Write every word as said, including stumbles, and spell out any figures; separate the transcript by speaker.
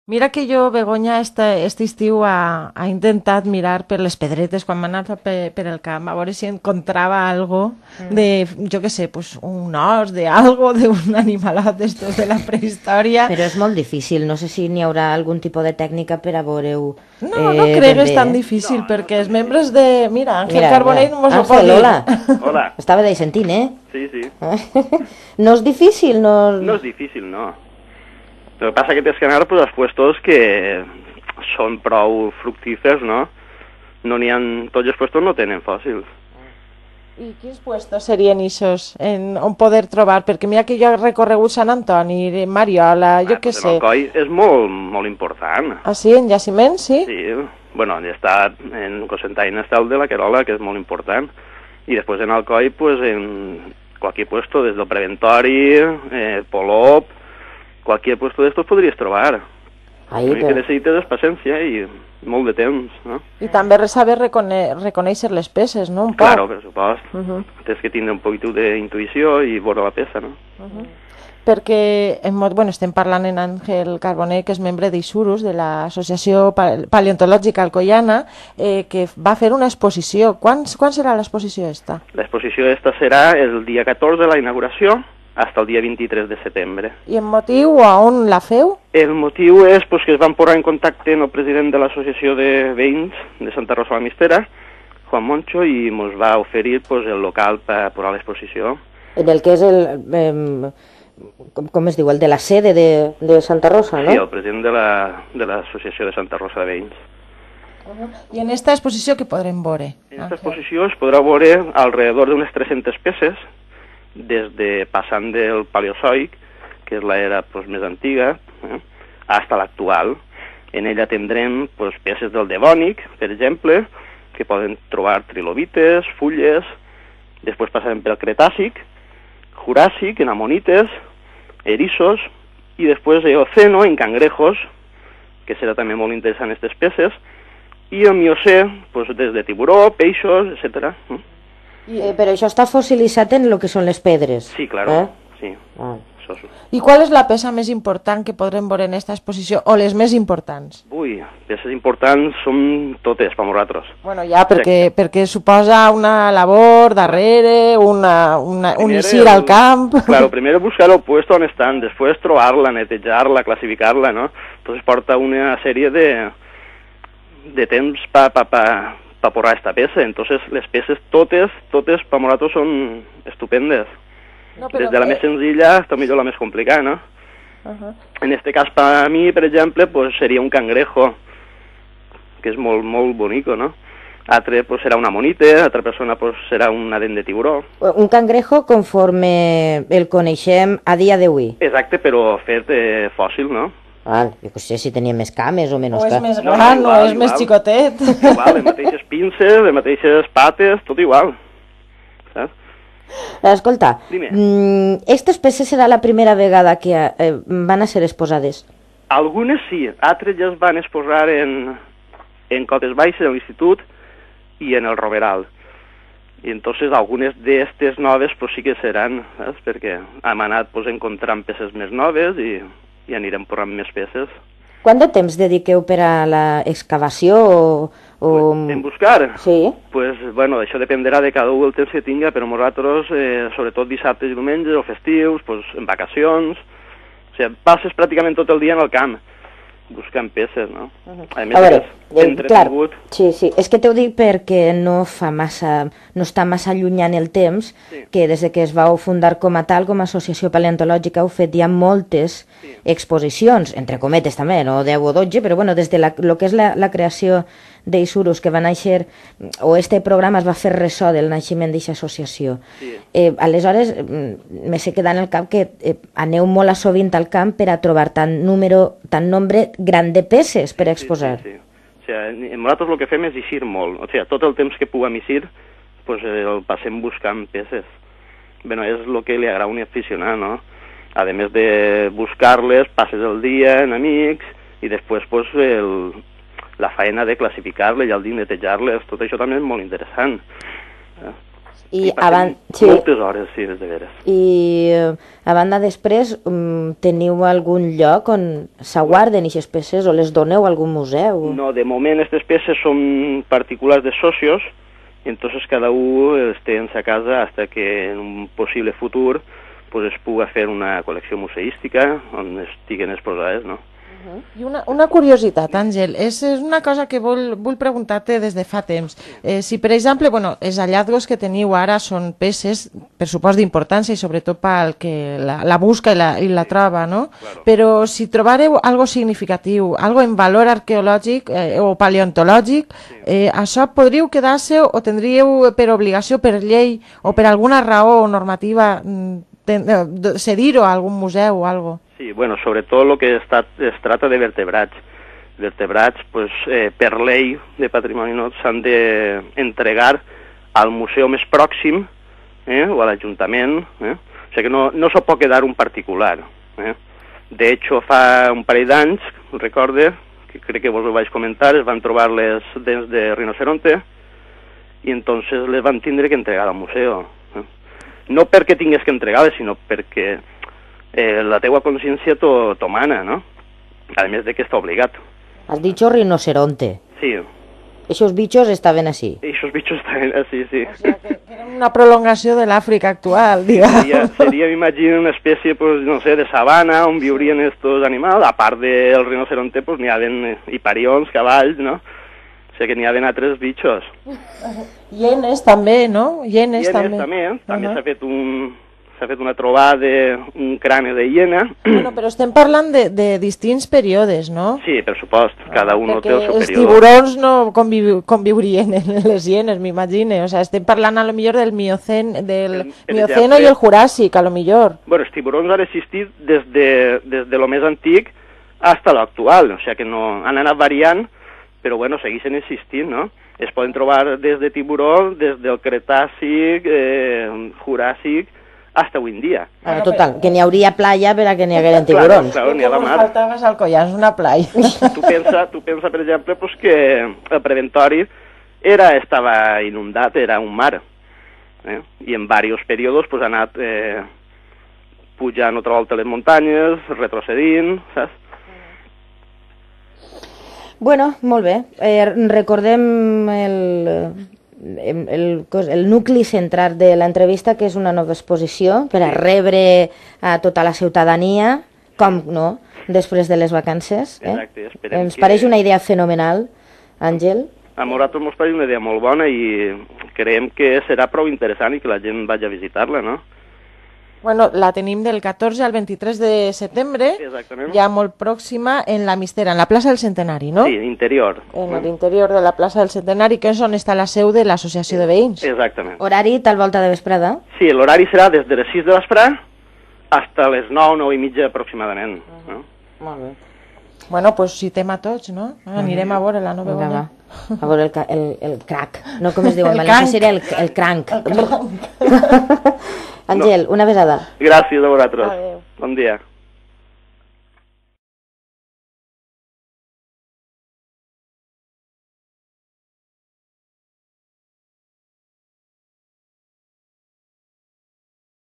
Speaker 1: Mira que jo, Begoña, este, este estiu ha, ha intentat mirar per les pedretes quan m'ha anat per, per el camp, a veure si encontrava algo de, jo què sé, pues, un os, de algo, d'un animalat d'estos de la prehistòria.
Speaker 2: Però és molt difícil, no sé si n'hi haurà algun tipus de tècnica per a veure-ho
Speaker 1: No, no
Speaker 2: eh,
Speaker 1: crec
Speaker 2: ben
Speaker 1: que és
Speaker 2: bé.
Speaker 1: tan difícil,
Speaker 3: No,
Speaker 1: perquè
Speaker 3: no
Speaker 1: els
Speaker 3: és
Speaker 1: membres de... Mira, Ángel
Speaker 2: Mira,
Speaker 1: Carbonell
Speaker 2: mira.
Speaker 1: no mos ho pot
Speaker 2: Ángel,
Speaker 1: dir.
Speaker 2: hola.
Speaker 3: Hola.
Speaker 2: Estava de sentint, eh?
Speaker 3: Sí, sí.
Speaker 2: No és difícil, no...
Speaker 3: No és difícil, no. Lo que passa que tens que anar pues, als puestos que són prou fructífers, no? No n'hi ha... Tots els puestos no tenen fòssils.
Speaker 1: I quins puestos serien ixos en, on poder trobar? Perquè mira que jo he recorregut Sant Antoni, Mariola, jo
Speaker 3: Ah,
Speaker 1: què
Speaker 3: pues
Speaker 1: sé.
Speaker 3: en Alcoi és molt, molt important.
Speaker 1: Ah, sí? En jaciment, sí?
Speaker 3: Sí, bueno, ja està en Cocentaina està el de la Querola, que és molt important. I després en Alcoi, pues en cualquier puesto, des del Preventori, eh, Polop, cualquier puesto d'estos podries trobar.
Speaker 2: Ai,
Speaker 3: L'únic
Speaker 2: però...
Speaker 3: que necessites és paciència i molt de temps, no?
Speaker 1: I també saber recone reconèixer les peces, no? Un poc.
Speaker 3: Claro, per supost.
Speaker 1: Uh -huh.
Speaker 3: Tens que tindre un poquito d'intuïció i veure la peça, no?
Speaker 1: Uh -huh. Perquè en mod, bueno, estem parlant en Àngel Carbonell, que és membre d'Isurus, de l'Associació Paleontològica Alcoiana, eh, que va fer una exposició. Quan, quan serà l'exposició esta?
Speaker 3: L'exposició esta serà el dia catorze de la inauguració, hasta el dia vint-i-tres de setembre.
Speaker 1: I en motiu a on la feu?
Speaker 3: El motiu és pues, que es van posar en contacte amb el president de l'Associació de Veïns de Santa Rosa la Mistera, Juan Moncho, i ens va oferir pues, el local per posar l'exposició.
Speaker 2: En el que és el... Eh, com, com es diu? El de la sede de, de Santa Rosa, no?
Speaker 3: Sí, el president de la, de l'Associació de Santa Rosa de Veïns.
Speaker 1: Uh -huh. I en esta exposició què podrem veure?
Speaker 3: En aquesta exposició es podrà veure alrededor d'unes tres-centes peces, des de passant del Paleozoic, que és l'era pues, més antiga, eh, fins a l'actual. En ella tindrem pues, peces del Devònic, per exemple, que poden trobar trilobites, fulles, després passarem pel Cretàcic, Juràssic, en amonites, eriços, i després Eoceno, en cangrejos, que serà també molt interessant aquestes peces, i el Miocè, pues, des de tiburó, peixos, etcètera.
Speaker 2: Eh, però això està fossilitzat en el que són les pedres.
Speaker 3: Sí, claro,
Speaker 2: Eh?
Speaker 3: sí.
Speaker 2: Ah.
Speaker 3: Això és...
Speaker 1: I qual és la peça més important que podrem veure en esta exposició, o les més importants?
Speaker 3: Ui, peces importants són totes per nosaltres.
Speaker 1: Bueno, ja, perquè, perquè suposa una labor darrere, una, una, un
Speaker 3: Primer
Speaker 1: eixir
Speaker 3: el-
Speaker 1: al camp...
Speaker 3: Claro, primero buscar el puesto on estan, después trobar-la, netejar-la, classificar-la, ¿no? Entonces porta una sèrie de, de temps pa, pa, pa, pa porrar esta peça. Entonces les peces totes, totes per nosaltres són estupendes.
Speaker 1: No,
Speaker 3: Des de la més senzilla hasta millor la més complicada, ¿no?
Speaker 1: Uh -huh.
Speaker 3: En este cas, para mí, per exemple, pues seria un cangrejo, que és molt, molt bonico, ¿no? Altre pues, serà una monite, altra persona pues, serà una dent de tiburó.
Speaker 2: Un cangrejo conforme el coneixem a dia d'avui.
Speaker 3: Exacte, però fet eh, fòssil, no?
Speaker 2: Ah, jo no sé si tenia més cames o menys
Speaker 1: O és
Speaker 2: cames.
Speaker 1: més
Speaker 3: No, no,
Speaker 1: gran,
Speaker 3: igual,
Speaker 1: o és més
Speaker 3: igual.
Speaker 1: xicotet.
Speaker 3: Igual, les mateixes pinces, les mateixes pates, tot igual. Saps?
Speaker 2: Escolta,
Speaker 3: Dime.
Speaker 2: mm, aquestes peces serà la primera vegada que eh, van a ser exposades.
Speaker 3: Algunes sí, altres ja es van exposar en, en Cotes Baixes, en l'institut, i en el Roveral. I entonces algunes d'estes noves pues, sí que seran, saps? Perquè hem anat pues, encontrant peces més noves i, i anirem posant més peces.
Speaker 2: Quant de temps dediqueu per a l'excavació o... o...
Speaker 3: En buscar?
Speaker 2: Sí.
Speaker 3: Pues, bueno, això dependrà de cada un el temps que tinga, però nosaltres, eh, sobretot dissabtes i diumenges o festius, pues, en vacacions, o sigui, passes pràcticament tot el dia en el camp, buscant peces, no? A més,
Speaker 2: A veure,
Speaker 3: és
Speaker 2: eh, clar,
Speaker 3: entretingut.
Speaker 2: sí, sí, és que t'ho dic perquè no fa massa, no està massa allunyant el temps,
Speaker 3: Sí.
Speaker 2: que des de que es vau fundar com a tal, com a associació paleontològica, heu fet ja moltes
Speaker 3: Sí.
Speaker 2: exposicions, entre cometes també, no deu o dotze, però bueno, des de la, lo que és la, la creació d'Isurus, que va néixer, o este programa es va fer ressò del naixement d'aquesta associació.
Speaker 3: Sí.
Speaker 2: Eh, aleshores, mm, me sé quedar en el cap que eh, aneu molt a sovint al camp per a trobar tant número, tant nombre gran de peces per a exposar.
Speaker 3: Sí, sí, sí. O sigui, nosaltres el que fem és eixir molt. O sigui, tot el temps que puguem eixir, pues, el passem buscant peces. Bueno, és el que li agrada a un aficionat, no? A més de buscar-les, passes el dia en amics i després pues, el, la feina de classificar-les i el de netejar-les, tot això també és molt interessant.
Speaker 2: I,
Speaker 3: I
Speaker 2: a ban... sí.
Speaker 3: moltes hores, sí, és de veres.
Speaker 2: I eh, a banda després, um, teniu algun lloc on s'aguarden aquestes peces o les doneu a algun museu?
Speaker 3: No, de moment aquestes peces són particulars de socios, i entonces cada un els té en sa casa hasta que en un possible futur pues, es puga fer una col·lecció museística on estiguen exposades, no?
Speaker 1: I una, una curiositat, Àngel, és, és una cosa que vol, vull preguntar-te des de fa temps. Eh, si, per exemple, bueno, els hallazgos que teniu ara són peces, per supost d'importància i sobretot pel que la, la busca i la, i la troba, no?
Speaker 3: Claro.
Speaker 1: Però si trobareu algo significatiu, algo en valor arqueològic eh, o paleontològic, eh, això podríeu quedar-se o tindríeu per obligació, per llei o per alguna raó normativa ten, eh, cedir-ho a algun museu o algo?
Speaker 3: Sí, bueno, sobretot el que es, es trata de vertebrats. Vertebrats, pues, eh, per llei de patrimoni no s'han d'entregar al museu més pròxim eh, o a l'Ajuntament. Eh? O sigui que no, no s'ho pot quedar un particular. Eh? De hecho, fa un parell d'anys, recorde, que crec que vos ho vaig comentar, es van trobar les dents de rinoceronte i entonces les van tindre que entregar al museu. Eh? No perquè tingués que entregar-les, sinó perquè Eh, la teua consciència t'ho mana, no? A més de que està obligat.
Speaker 2: Has dicho rinoceronte.
Speaker 3: Sí.
Speaker 2: Esos bichos estaven así.
Speaker 3: Esos bichos estaven así, sí.
Speaker 1: O sea, que, que era una prolongació de l'Àfrica actual, digamos.
Speaker 3: Seria, seria m'imagino, una espècie, pues, no sé, de sabana on viurien estos animals. A part del rinoceronte, pues, n'hi havien hiparions, cavalls, no? O sigui que n'hi havien altres bitxos.
Speaker 1: Hienes també, no? Hienes,
Speaker 3: Hienes
Speaker 1: també.
Speaker 3: també, eh? També
Speaker 1: uh -huh.
Speaker 3: s'ha fet un... s'ha fet una trobada d'un crani de hiena.
Speaker 1: Bueno, però estem parlant de, de distints períodes, no?
Speaker 3: Sí, per supost, cada un
Speaker 1: Perquè
Speaker 3: té el seu
Speaker 1: els
Speaker 3: període.
Speaker 1: tiburons no conviu conviurien en les hienes, m'imagine. O sea, estem parlant a lo millor del Miocen, del
Speaker 3: Per
Speaker 1: Mioceno
Speaker 3: exemple,
Speaker 1: i el Juràssic, a lo millor.
Speaker 3: Bueno, els tiburons han existit des de, des de lo més antic fins a l'actual, o sigui que no, han anat variant, però bueno, segueixen existint, no? Es poden trobar des de tiburó, des del Cretàcic, eh, Juràssic, hasta avui en dia.
Speaker 2: Bueno, total, que n'hi hauria playa per a que n'hi hagueren tiburons.
Speaker 3: Claro, claro, n'hi ha la mar.
Speaker 1: Faltaves al collar, és una playa.
Speaker 3: Tu pensa, tu pensa per exemple, pues, que el preventori era, estava inundat, era un mar. Eh? I en diversos períodes pues, ha anat eh, pujant otra volta les muntanyes, retrocedint, saps?
Speaker 2: Bueno, molt bé. Eh, recordem el, el, el, el nucli central de l'entrevista, que és una nova exposició per a rebre a tota la ciutadania, com no, després de les vacances. Eh?
Speaker 3: Exacte, esperem
Speaker 2: Ens
Speaker 3: que...
Speaker 2: pareix una idea fenomenal, Àngel.
Speaker 3: A nosaltres ens pareix una idea molt bona i creiem que serà prou interessant i que la gent vagi a visitar-la, no?
Speaker 1: Bueno, la tenim del catorze al vint-i-tres de setembre,
Speaker 3: Exactament.
Speaker 1: ja molt pròxima, en la Mistera, en la plaça del Centenari, no?
Speaker 3: Sí, interior.
Speaker 1: En l'interior de la plaça del Centenari, que és on està la seu de l'associació de veïns.
Speaker 3: Exactament.
Speaker 2: Horari, tal volta de vesprada?
Speaker 3: Sí, l'horari serà des de les sis de vesprà fins a les nou, nou i mitja aproximadament. Uh -huh. No?
Speaker 2: Molt bé.
Speaker 1: Bueno, pues citem a tots, no? Anirem a veure la nova
Speaker 2: Vinga,
Speaker 1: guanya.
Speaker 2: va. A veure el, ca- el, el crac. No, com es diu en
Speaker 1: El
Speaker 2: valencià
Speaker 1: cranc.
Speaker 2: seria el, el cranc. Àngel, una besada.
Speaker 3: Gràcies a vosaltres.
Speaker 1: Adéu.
Speaker 3: Bon dia.